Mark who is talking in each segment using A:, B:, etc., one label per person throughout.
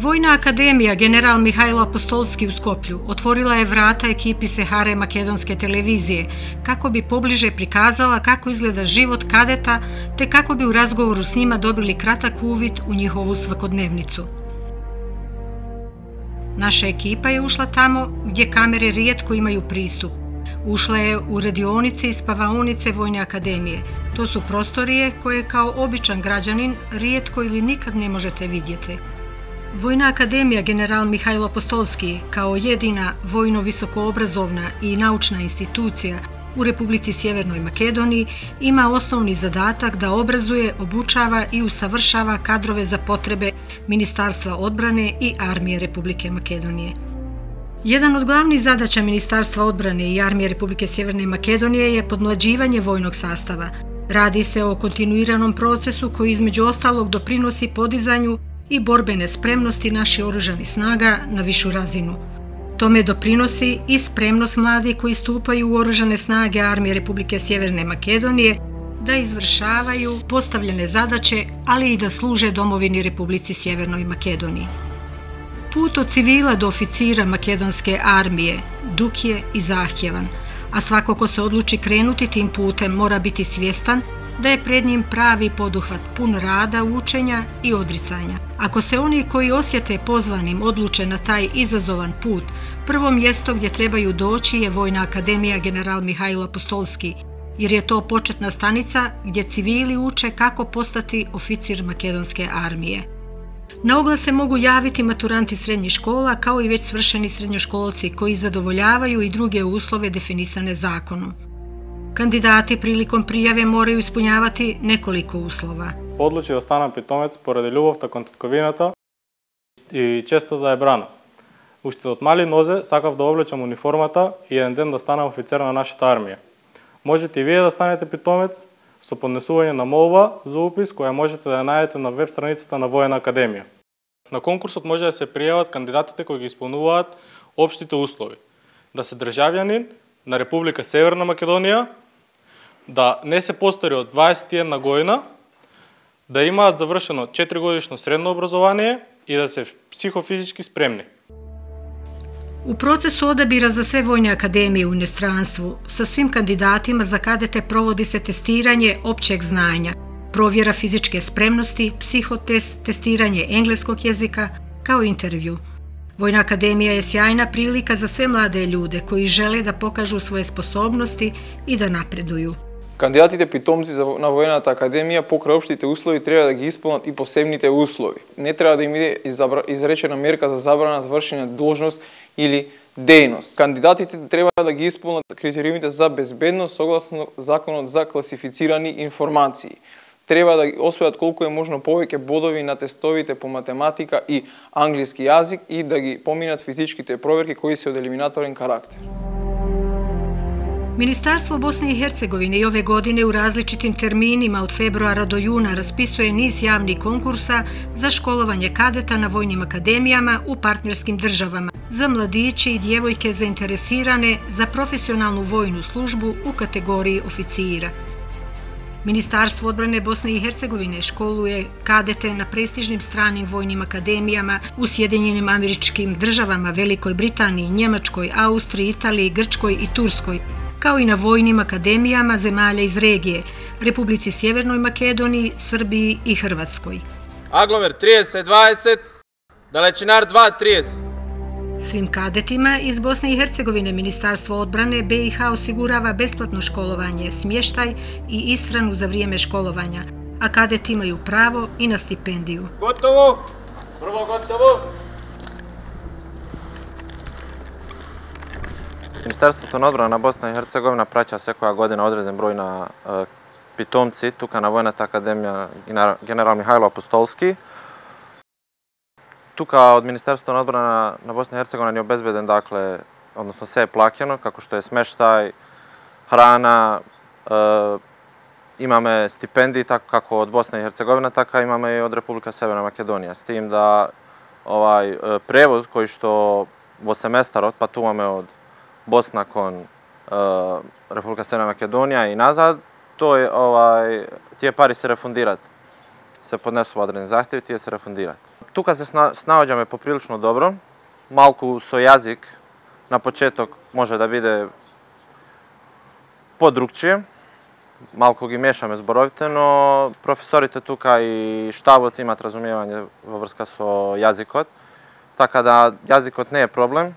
A: Vojna akademija General Mihajlo Apostolski u Skoplju otvorila je vrata ekipi Sehare makedonske televizije kako bi pobliže prikazala kako izgleda život kadeta te kako bi u razgovoru s njima dobili kratak uvid u njihovu svakodnevnicu. Naša ekipa je ušla tamo gdje kamere rijetko imaju pristup. Ušla je u radionice i spavaonice Vojne akademije. To su prostorije koje kao običan građanin rijetko ili nikad ne možete vidjeti. Vojna akademija General Mihajlo Apostolski kao jedina vojno-visokoobrazovna i naučna institucija u Republici Sjevernoj Makedoniji ima osnovni zadatak da obrazuje, obučava i usavršava kadrove za potrebe Ministarstva odbrane i Armije Republike Makedonije. Jedan od glavnih zadaća Ministarstva odbrane i Armije Republike Sjeverne Makedonije je podmlađivanje vojnog sastava. Radi se o kontinuiranom procesu koji između ostalog doprinosi podizanju i borbene spremnosti naših oružanih snaga na višu razinu. Tome doprinosi i spremnost mladih koji stupaju u oružane snage Armije Republike Sjeverne Makedonije da izvršavaju postavljene zadaće, ali i da služe domovini Republici Sjevernoj Makedoniji. Put od civila do oficira makedonske armije dug je i zahtjevan, a svako ko se odluči krenuti tim putem mora biti svjestan da je pred njim pravi poduhvat pun rada, učenja i odricanja. Ako se oni koji osjete pozvanim odluče na taj izazovan put, prvo mjesto gdje trebaju doći je Vojna akademija General Mihajlo Apostolski, jer je to početna stanica gdje civili uče kako postati oficir makedonske armije. Na oglas se mogu javiti maturanti srednjih škola kao i već svršeni srednjoškolci koji zadovoljavaju i druge uslove definisane zakonom. Kandidati prilikom prijave moraju ispunjavati nekoliko uslova.
B: Одлучи да станам питомец поради љубовта кон татковината и често да ја брана. Уште од мали нозе сакав да облечам униформата и еден ден да станам офицер на нашата армија. Можете и вие да станете питомец со поднесување на молба за упис која можете да ја најдете на веб страницата на Војна академија. На конкурсот може да се пријават кандидатите кои ги исполнуваат општите услови. Да се државјанин на Република Северна Македонија, да не се постари од 21 година, да имаат завршено 4-годишно средно образование и да се психофизички спремни.
A: U procesu odabira za sve vojne akademije u inostranstvu sa svim kandidatima za kadete provodi se testiranje općeg znanja, provjera fizičke spremnosti, psihotest, testiranje engleskog jezika kao intervju. Vojna akademija je sjajna prilika za sve mlade ljude koji žele da pokažu svoje sposobnosti i da napreduju.
C: Кандидатите питомци на Војната академија покрај општите услови треба да ги исполнат и посебните услови. Не треба да им биде изречена мерка за забрана за вршење должност или дејност. Кандидатите треба да ги исполнат критериумите за безбедност согласно законот за класифицирани информации. Треба да освојат колку е можно повеќе бодови на тестовите по математика и англиски јазик и да ги поминат физичките проверки кои се од елиминаторен карактер.
A: Ministarstvo Bosne i Hercegovine i ove godine u različitim terminima od februara do juna raspisuje niz javnih konkursa za školovanje kadeta na vojnim akademijama u partnerskim državama za mladiće i djevojke zainteresirane za profesionalnu vojnu službu u kategoriji oficira. Ministarstvo odbrane Bosne i Hercegovine školuje kadete na prestižnim stranim vojnim akademijama u Sjedinjenim Američkim Državama, Velikoj Britaniji, Njemačkoj, Austriji, Italiji, Grčkoj i Turskoj, kao i na vojnim akademijama zemalja iz regije, Republici Sjevernoj Makedoniji, Srbiji i Hrvatskoj.
D: Aglomer 30-20, Dalečinar 2-30.
A: Svim kadetima iz Bosne i Hercegovine Ministarstvo odbrane BiH osigurava besplatno školovanje, smještaj i ishranu za vrijeme školovanja, a kadeti imaju pravo i na stipendiju.
D: Gotovo! Prvo gotovo!
E: Ministarstvo odbrana Bosna i Hercegovina praća sekoja godina određen broj na pitomci tuka na Vojната akademija General Mihajlo Apostolski. Tuka od Ministarstva odbrana na Bosna i Hercegovina je obezbeden, dakle, odnosno sve je plakjeno, kako što je smeštaj, hrana, imame stipendiji, tako kako od Bosne i Hercegovina, tako imame i od Republika Severna Makedonija. S tim da prevoz koji što vo semestar otpatuvame od Bosna kon Republika Severna Makedonija i nazad, to je tije pari se refundirat. Se podnesu određeni zahtjevi, tije se refundirat. тука се снаоѓаме поприлично добро. Малку со јазик на почеток може да биде подругчие. Малку ги мешаме зборовите, но професорите тука и штабот имат разумевање во врска со јазикот, така да јазикот не е проблем.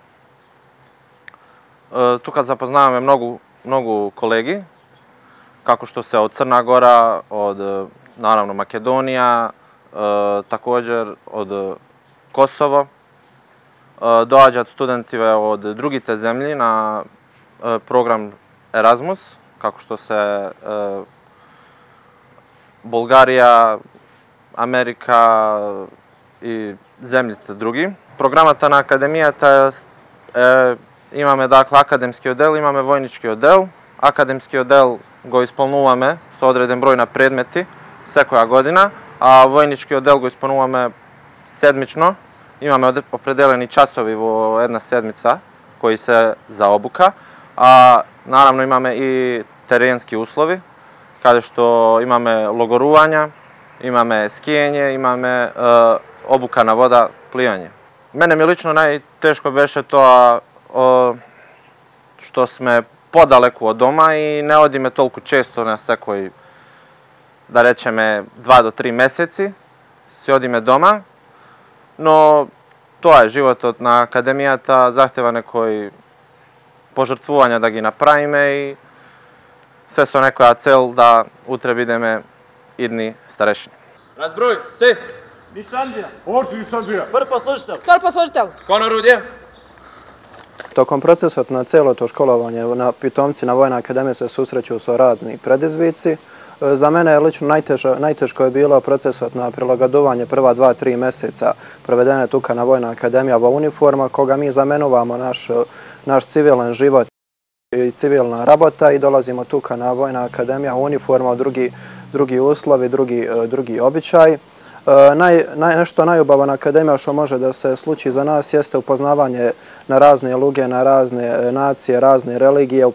E: Тука запознаваме многу колеги, како што се од Црна Гора, од наравно Македонија, такоđer од Косово. Доаѓаат студентиве од другите земји на програм Еразмус, како што се Болгарија, Америка и земјите други. Програмата на академијата имаме академски оддел, имаме војнички оддел. Академски оддел го исполнуваме со одреден број на предмети секоја година, а војнички оддел го исполнуваме седмично. Имаме определени часови во една седмица кои се за обука, а наравно имаме и теренски услови, каде што имаме логорувања, имаме скијање, имаме обука на вода, пливање. Мене ми лично најтешко беше тоа што сме подалеку од дома и не одиме толку често на секој, да речеме, 2 до 3 месеци, си одиме дома, но тоа е животот на академијата, захтева некои пожртвувања да ги направиме и се со некоја цел да утре бидеме идни старешини.
D: Разброј, се!
F: Нишанџија. Овој Нишанџија.
G: Прв послужител.
H: Втор послужител.
D: Кон орудје.
C: Током процесот на целото школовање на питомци на Војна академија се сусреќу со разни предизвици. За мене лично најтешко je bilo procesот na prilagodovanje prva 2-3 meseca provedene tuka na Vojna akademija во uniforma, koga mi zamenuvamo naš civilan život i civilna rabota i dolazimo tuka na Vojna akademija u uniforma, drugi uslovi, drugi običaj. Nešto najubavan akademija što može da se sluči za nas jeste upoznavanje na razne luge, na razne nacije, razne religije,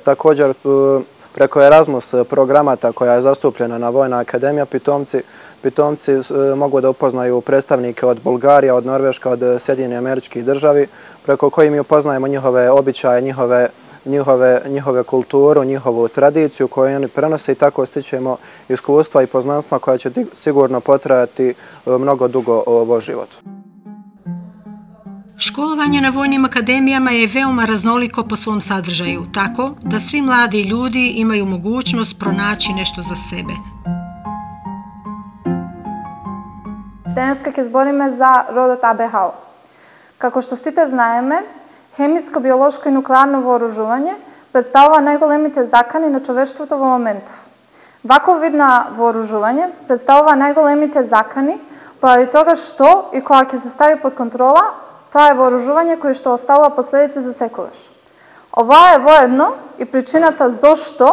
C: također preko Erasmus programata koja je zastupljena na Vojna akademija, pitomci mogu da upoznaju predstavnike od Bulgarije, od Norveška, od Sjedinjenih Američkih Državi, preko kojih mi upoznajemo njihove običaje, njihove kulturu, njihovu tradiciju koju oni prenose i tako stičemo iskustva i poznanstva koja će sigurno potrajati mnogo dugo vo životu.
A: Školovanje na vojnim akademijama je veoma raznoliko po svom sadržaju, tako da svi mladi ljudi imaju mogućnost pronaći nešto za sebe.
I: Денеска ќе збориме за родот АБХ. Како што сите знаеме, хемиско, биолошко и нуклеарно вооружување представува најголемите закани на човештвото во моментов. Ваков вид на вооружување представува најголемите закани поради тога што и кога ќе се стави под контрола, тоа е вооружување кое што оставува последици за секогаш. Ова е воедно и причината зошто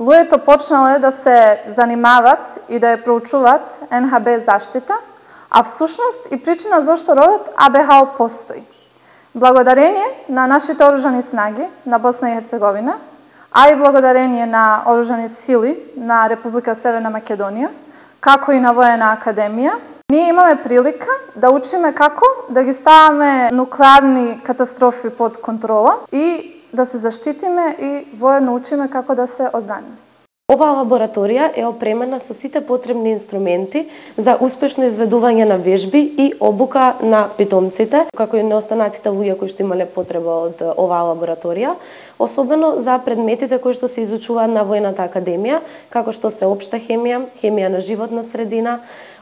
I: луѓето почнале да се занимават и да ја проучуваат НХБ заштита, а всушност и причина зошто родот АБХ постои. Благодарение на нашите оружани снаги на Босна и Херцеговина, а и благодарение на оружани сили на Република Северна Македонија, како и на Војна академија, ние имаме прилика да учиме како да ги ставаме нуклеарни катастрофи под контрола и да се заштитиме и воедно учиме како да се одбраниме.
G: Оваа лабораторија е опремена со сите потребни инструменти за успешно изведување на вежби и обука на питомците, како и на останатите луѓе кои што имале потреба од оваа лабораторија, особено за предметите кои што се изучуваат на Војната академија, како што се општа хемија, хемија на животна средина,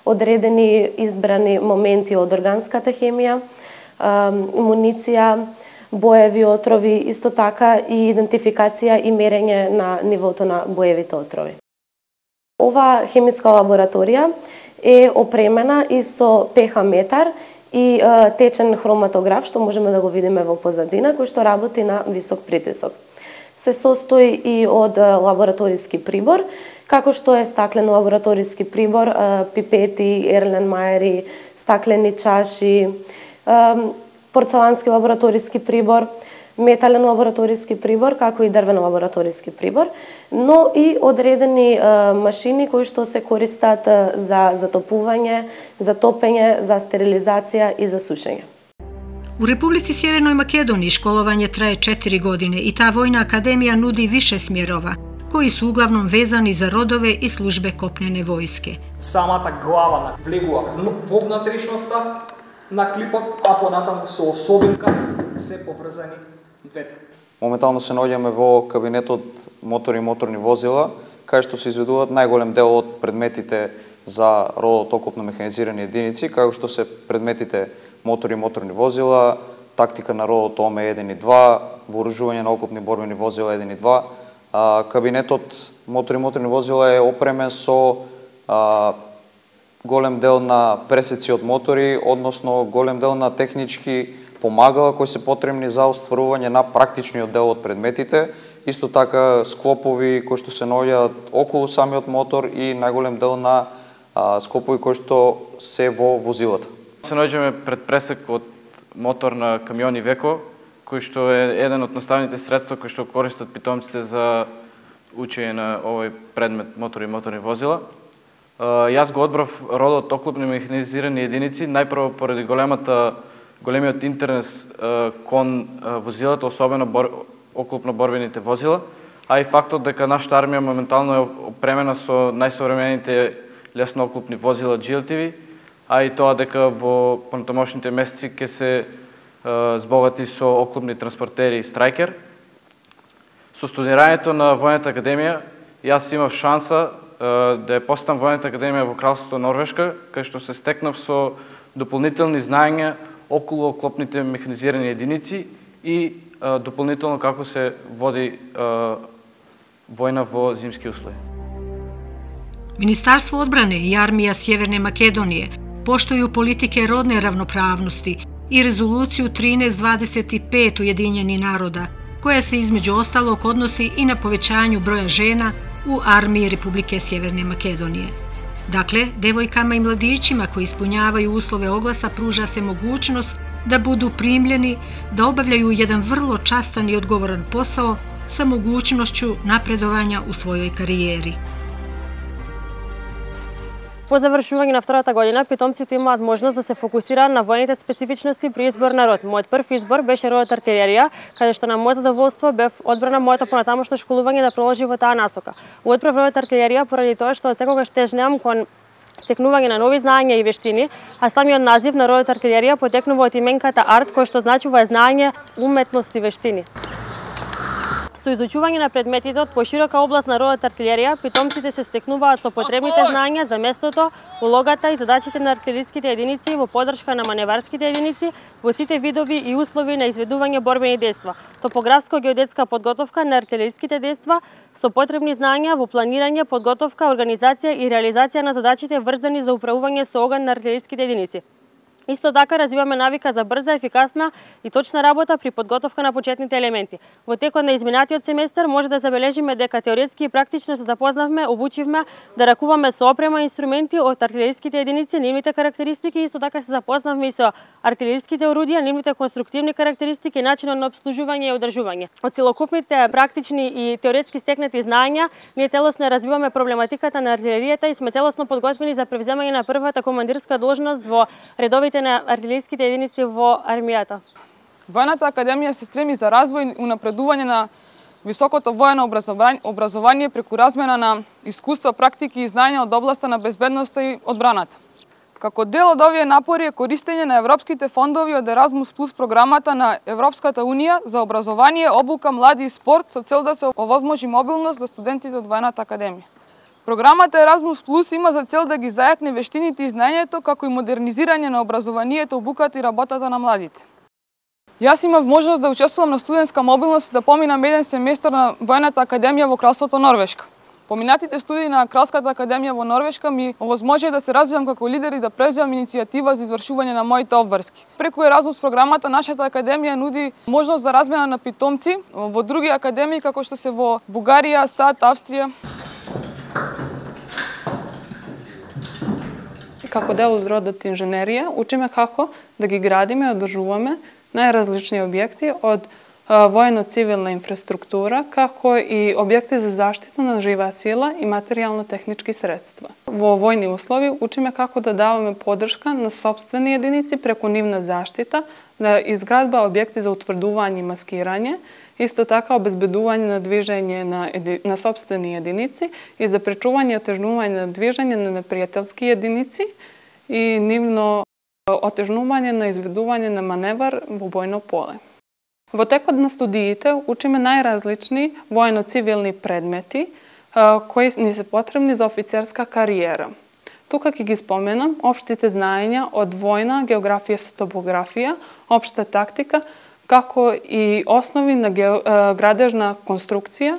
G: одредени избрани моменти од органската хемија, муниција, боеви отрови, исто така и идентификација и мерење на нивото на боевите отрови. Оваа хемиска лабораторија е опремена и со pH метар и течен хроматограф, што можеме да го видиме во позадина, кој што работи на висок притисок. Се состои и од лабораториски прибор, како што е стаклен лабораториски прибор, пипети, ерленмајери, стаклени чаши, порцелански лабораториски прибор, метален лабораториски прибор, како и дрвен лабораториски прибор, но и одредени машини кои што се користат за затопување, за топење, за стерилизација и за сушење.
A: У Републици Северној Македонија школување трае 4 години и таа војна академија нуди више смерова, кои се углавном везани за родове и службе копнене војске.
H: Самата глава влегува во внатрешноста на клипот, а понатаму со особинка се поврзани двете.
C: Моментално се наоѓаме во кабинетот мотори и моторни возила, кај што се изведуваат најголем дел од предметите за родот окопно механизирани единици, како што се предметите мотори и моторни возила, тактика на родот ОМ1 и 2, вооружување на окопни борбени возила 1 и 2. Кабинетот мотори и моторни возила е опремен со голем дел на пресеци од мотори, односно голем дел на технички помагала кои се потребни за остварување на практичниот дел од предметите, исто така склопови кои што се наоѓаат околу самиот мотор и најголем дел на склопови кои што се во возилата.
J: Се наоѓаме пред пресек од мотор на камиони Веко, кој што е еден од наставните средства кои што користат питомците за учење на овој предмет мотори и моторни возила. Јас го одбрав родот оклопни механизирани единици, најпрво поради големиот интерес кон возилата, особено оклопно борбените возила, а и фактот дека нашата армија моментално е опремена со најсовремените лесно оклопни возила GLTV, а и тоа дека во понатамошните месеци ќе се збогати со оклопни транспортери Страйкер. Со студирањето на Војната академија, јас имав шанса да ја посетам Војната академија во Кралството Норвешка, кај што се стекнав со дополнителни знаења околу оклопните механизирани единици и дополнително како се води војна во зимски услови.
A: Министарство одбране и армија Северне Македонije поштују политике родне равноправности и резолуцију 1325 Уединjeni народа, која се измеѓу осталог односи и на повеќању броја жена у армiji Републике Северне Македонije. Dakle, devojkama i mladićima koji ispunjavaju uslove oglasa pruža se mogućnost da budu primljeni, da obavljaju jedan vrlo častan i odgovoran posao sa mogućnošću napredovanja u svojoj karijeri.
K: По завршување на втората година, питомците имаат можност да се фокусираат на војните специфичности при избор на род. Мојот прв избор беше родот артилерија, каде што на моје задоволство бев одбрана моето понатамошно школување да продолжи во таа насока. Одбрав родот артилерија поради тоа што секогаш тежнеам кон стекнување на нови знаења и вештини, а самиот назив на родот артилерија потекнува од именката арт, кој што значува знаење, уметност и вештини. Со изучување на предметите од поширока област на родот артилерија, питомците се стекнуваат со потребните знаења за местото, улогата и задачите на артилериските единици во поддршка на маневарските единици во сите видови и услови на изведување борбени дејства, топографско-геодетска подготовка на артилериските дејства со потребни знаења во планирање, подготовка, организација и реализација на задачите врзани за управување со оган на артилериските единици. Исто така развиваме навика за брза, ефикасна и точна работа при подготовка на почетните елементи. Во текот на изминатиот семестар може да забележиме дека теоретски и практично се запознавме, обучивме да ракуваме со опрема и инструменти од артилериските единици, нивните карактеристики, исто така се запознавме и со артилериските орудија, нивните конструктивни карактеристики и начинот на обслужување и одржување. Од целокупните практични и теоретски стекнати знаења, ние целосно развиваме проблематиката на артилеријата и сме целосно подготвени за превземање на првата командирска должност во редовите на артилериските единици во армијата.
L: Војната академија се стреми за развој и унапредување на високото воено образование преку размена на искуства, практики и знаења од областа на безбедноста и одбраната. Како дел од овие напори е користење на европските фондови од Еразмус Плюс програмата на Европската унија за образование, обука, млади и спорт со цел да се овозможи мобилност за студентите од Војната академија. Програмата Еразмус Плюс има за цел да ги зајакне вештините и знаењето, како и модернизирање на образованието, обуката и работата на младите. Јас имав можност да учествувам на студентска мобилност и да поминам еден семестар на Војната академија во Кралството Норвешка. Поминатите студии на Кралската академија во Норвешка ми овозможија да се развивам како лидер и да превземам иницијатива за извршување на моите обврски. Преку Еразмус програмата нашата академија нуди можност за размена на питомци во други академии како што се во Бугарија, САД, Австрија.
M: Како дел од родот инженерија, учиме како да ги градиме и одржуваме најразлични објекти од воено-цивилна инфраструктура, како и објекти за заштита на жива сила и материјално-технички средства. Во војни услови учиме како да даваме подршка на сопствени единици преку нивна заштита, на изградба објекти за утврдување и маскирање, исто така обезбедување на движење на сопствени единици и запречување и отежнување на движење на непријателски единици и нивно отежнување на изведување на маневар во бојно поле. Во текот на студиите учиме најразлични воено-цивилни предмети кои ни се потребни за офицерска кариера. Тука ќе ги споменам општите знаења од војна, географија со топографија, општа тактика, како и основи на градежна конструкција,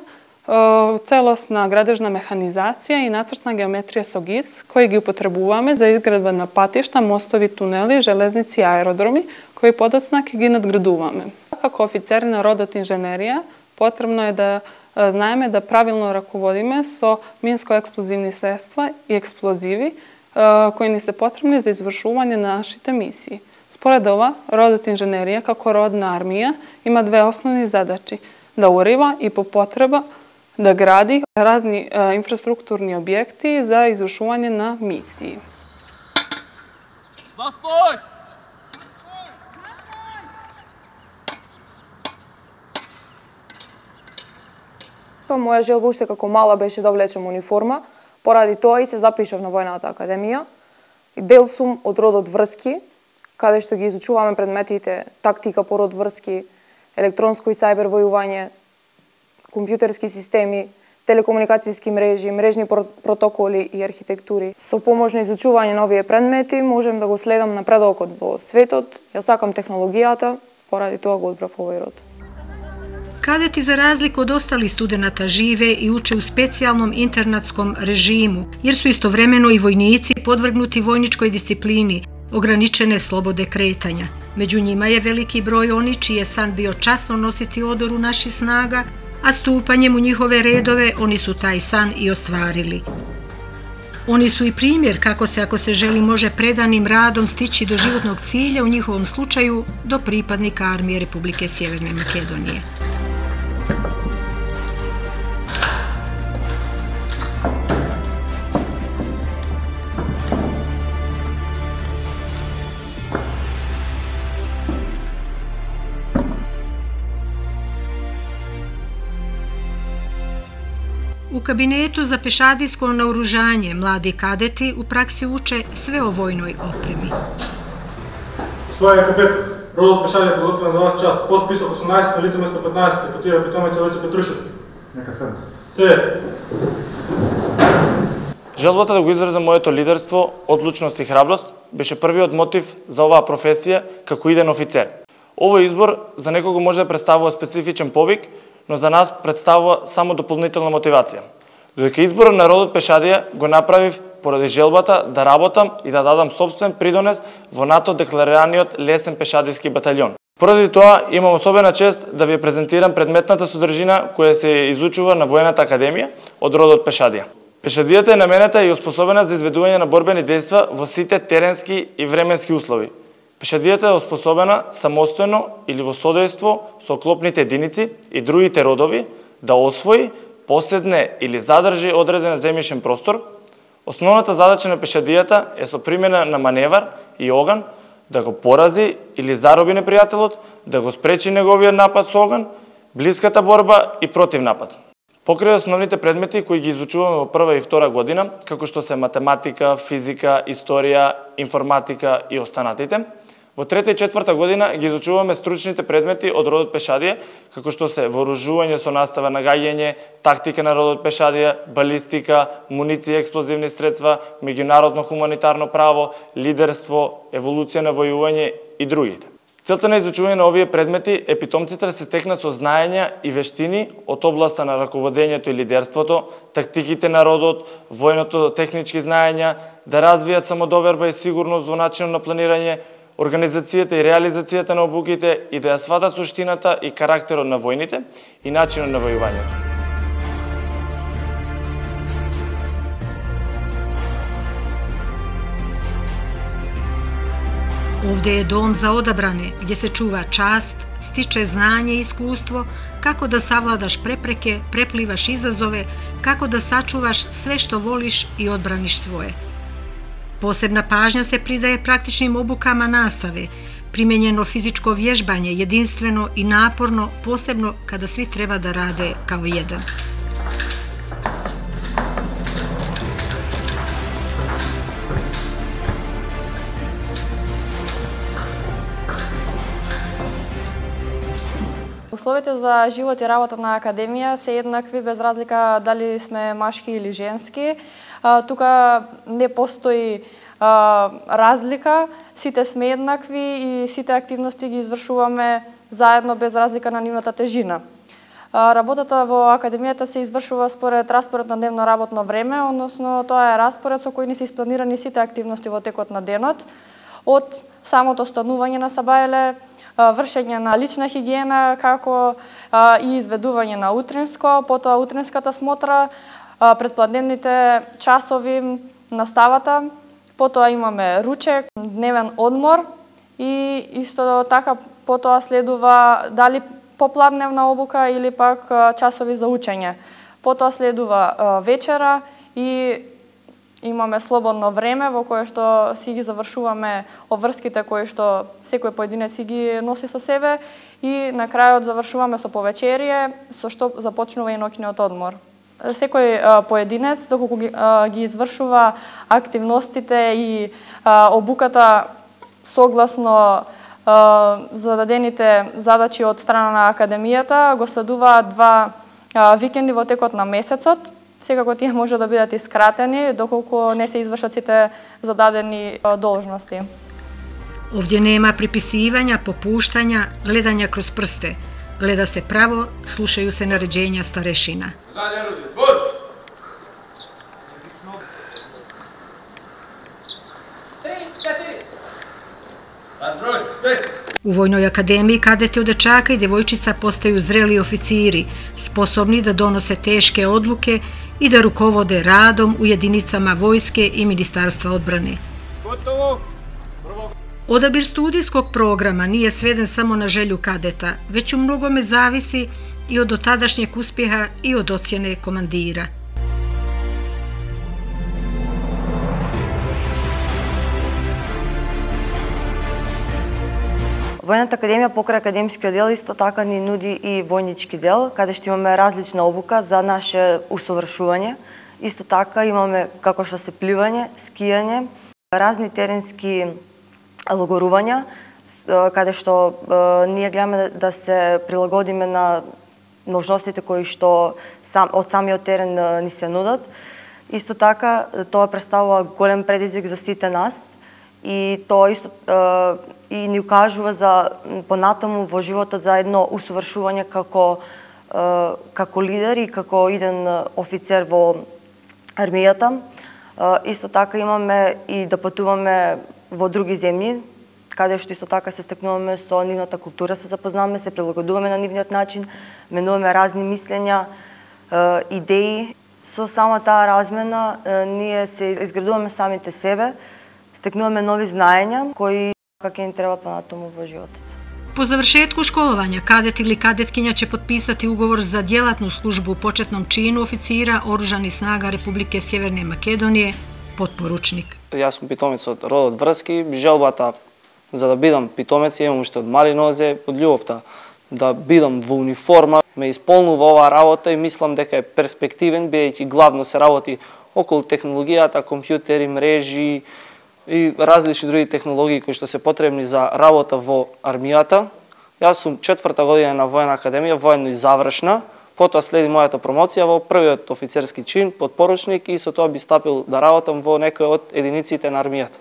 M: целосна градежна механизација и нацртна геометрија со ГИС, кои ги употребуваме за изградба на патишта, мостови, тунели, железници и аеродроми, кои подоцна ќе ги надградуваме. Како офицери на родот инженерија, потребно е да знаеме да правилно раководиме со минско-експлозивни средства и експлозиви кои ни се потребни за извршување на нашите мисии. Според ова, родот инженерија како род на армија има две основни задачи: да урива и по потреба да гради разни инфраструктурни објекти за извршување на мисии.
D: Застој!
N: Моја желба уште како мала беше да облечам униформа, поради тоа и се запишав на Војната академија. Дел сум од родот врски, каде што ги изучуваме предметите тактика по род врски, електронско и сајбер војување, компјутерски системи, телекомуникацијски мрежи, мрежни протоколи и архитектури. Со помош на изучување на овие предмети можем да го следам напредокот во светот. Ја сакам технологијата, поради тоа го одбрав овој род.
A: Кадети, за разлику од остали студената, живе и уче у специјалном интернатском режиму, jer su istovremeno i vojnici podvrgnuti vojničkoj disciplini, ograničene slobode kretanja. Među njima je veliki broj oni čiji je san bio časno nositi odoru naših snaga, a stupanjem u njihove redove oni su taj san i ostvarili. Oni su i primjer kako se, ako se želi, može predanim radom stići do životnog cilja, u njihovom slučaju do pripadnika Armije Republike Sjeverne Makedonije. U kabinetu za pešadijsko naoružanje mladi kadeti u praksi uče sve o vojnoj opremi.
B: Gospodine kapetan, rodot pešadija je podgotvoren za vaš čast. Post pisok 18 na lice mesto 15, potira pitomec Олеца Петрушевски. Нека седне. Се.
O: Желбата да го изразам моето лидерство, одлучност и храброст беше првиот мотив за оваа професија како иден офицер. Овој избор за некого може да представува специфичен повик, но за нас представува само дополнителна мотивација. Додека изборот на родот пешадија го направив поради желбата да работам и да дадам собствен придонес во НАТО декларираниот лесен пешадиски баталјон. Поради тоа имам особена чест да ви презентирам предметната содржина која се изучува на Војната академија од родот пешадија. Пешадијата е наменета и оспособена за изведување на борбени дејства во сите теренски и временски услови. Пешадијата е оспособена самостојно или во содејство со оклопните единици и другите родови да освои, поседне или задржи одреден земјишен простор. Основната задача на пешадијата е со примена на маневар и оган да го порази или зароби непријателот, да го спречи неговиот напад со оган, блиската борба и противнапад. Покрај основните предмети кои ги изучуваме во прва и втора година, како што се математика, физика, историја, информатика и останатите, во трета и четврта година ги изучуваме стручните предмети од родот пешадија, како што се вооружување со настава на гаѓање, тактика на родот пешадија, балистика, муниција и експлозивни средства, меѓународно хуманитарно право, лидерство, еволуција на војување и другите. Целта на изучување на овие предмети е питомците да се стекнат со знаења и вештини од областа на раководењето и лидерството, тактиките на родот, војното технички знаења, да развијат самодоверба и сигурност во начинот на планирање, организацијата и реализацијата на обуките и да ја сватат суштината и карактерот на војните и начинот на војувањето.
A: Ovde je dom za odabrane, gdje se čuva čast, stiče znanje i iskustvo, kako da savladaš prepreke, preplivaš izazove, kako da sačuvaš sve što voliš i odbraniš svoje. Posebna pažnja se pridaje praktičnim obukama nastave, primenjeno fizičko vježbanje, jedinstveno i naporno, posebno kada svi treba da rade kao jedan.
P: Условите за живот и работа на академија се еднакви без разлика дали сме машки или женски. Тука не постои разлика, сите сме еднакви и сите активности ги извршуваме заедно без разлика на нивната тежина. Работата во академијата се извршува според распоред на дневно работно време, односно тоа е распоред со кој ни се испланирани сите активности во текот на денот, од самото станување на сабајле, вршење на лична хигиена, како и изведување на утринско, потоа утринската смотра, предпладневните часови, наставата, потоа имаме ручек, дневен одмор и исто така потоа следува дали попладневна обука или пак часови за учење. Потоа следува вечера и имаме слободно време во кое што си ги завршуваме обврските кои што секој поединец си ги носи со себе и на крајот завршуваме со повечерие, со што започнува и ноќниот одмор. Секој поединец, доколку ги извршува активностите и обуката согласно зададените задачи од страна на академијата, го следуваат 2 викенди во текот на месецот. Секако тие може да бидат искратени, доколку не се извршат сите зададени должности.
A: Овдje nema pripisivanja, popuštanja, gledanja kroz prste. Gleda se pravo, slušaju se naređenja starešina. U Vojnoj akademiji kadeti od dečaka i devojčica postaju zreli oficiri, sposobni da donose teške odluke i da rukovode radom u jedinicama vojske i Ministarstva odbrane. Odabir studijskog programa nije sveden samo na želju kadeta, već u mnogome zavisi i od dotadašnjeg uspjeha i od ocjene komandira.
Q: Војната академија покрај академскиот дел исто така ни нуди и војнички дел, каде што имаме различна обука за наше усовршување. Исто така имаме како што се пливање, скијање, разни теренски логорувања, каде што ние гледаме да се прилагодиме на можностите кои што од самиот терен ни се нудат. Исто така тоа представува голем предизвик за сите нас и тоа исто и ни укажува за понатаму во животот за едно усовршување како лидер и како иден офицер во армијата. Исто така имаме и да патуваме во други земји, каде што исто така се стекнуваме со нивната култура, се запознаваме, се прилагодуваме на нивниот начин, менуваме разни мислења, идеи. Со само таа размена ние се изградуваме самите себе, стекнуваме нови знаења кои како им треба понатаму во животот.
A: Po završetku školovanja, kadet ili kadetkinja će potpisati ugovor za djelatnu službu u početnom činu oficira Oružanih snaga Republike Sjeverne Makedonije, potporučnik.
R: Јас сум питомец од родот Врски. Желбата за да бидам питомец имам уште од мали нозе, од љубовта да бидам во униформа. Ме исполнува оваа работа и мислам дека е перспективен, бидејќи главно се работи околу технологијата, компјутери, мрежи и различни други технологии кои што се потребни за работа во армијата. Јас сум 4-та година на војна академија, воено и завршна. Потоа следи мојата промоција во првиот офицерски чин, подпоручник, и со тоа би стапил да работам во некој од единиците на армијата.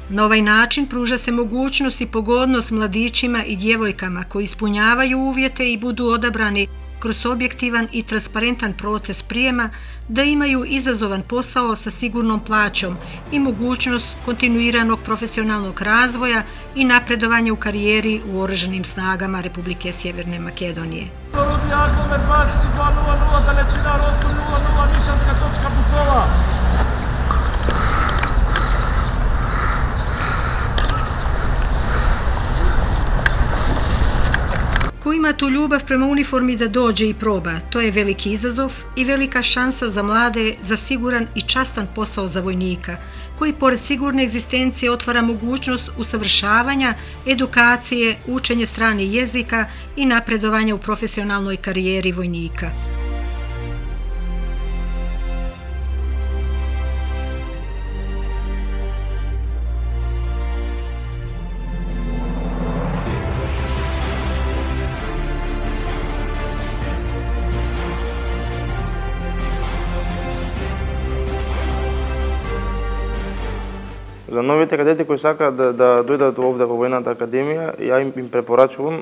A: Na ovaj način pruža se mogućnost i pogodnost mladićima i djevojkama koji ispunjavaju uvjete i budu odabrani kroz objektivan i transparentan proces prijema da imaju izazovan posao sa sigurnom plaćom i mogućnost kontinuiranog profesionalnog razvoja i napredovanja u karijeri u Oružanim snagama Republike Sjeverne Makedonije.
F: Aglomer 22.00, dalečina 8.00, nišanska točka Busova.
A: ima tu ljubav prema uniformi da dođe i proba. To je veliki izazov i velika šansa za mlade za siguran i častan posao za vojnika, koji pored sigurne egzistencije otvara mogućnost usavršavanja, edukacije, učenje stranih jezika i napredovanja u profesionalnoj karijeri vojnika.
S: За новите кадети кои сакаат да дојдат овде во Војната академија, ја им препорачувам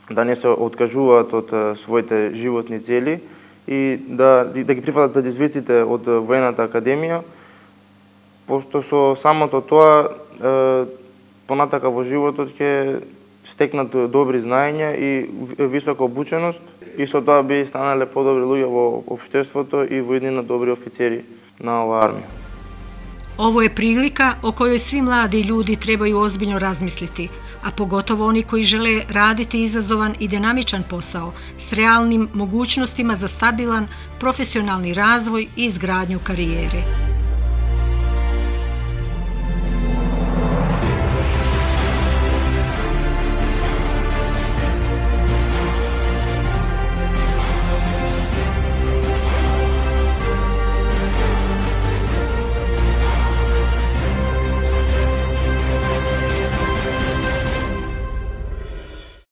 S: да не се откажуваат од своите животни цели и да ги прифатат предизвиците од Војната академија, пошто со самото тоа понатака во животот ќе стекнат добри знаења и висока обученост и со тоа би станале подобри луѓе во општеството и воеднина добри офицери на оваа армија.
A: Ovo je prilika o kojoj svi mladi ljudi trebaju ozbiljno razmisliti, a pogotovo oni koji žele raditi izazovan i dinamičan posao s realnim mogućnostima za stabilan profesionalni razvoj i izgradnju karijere.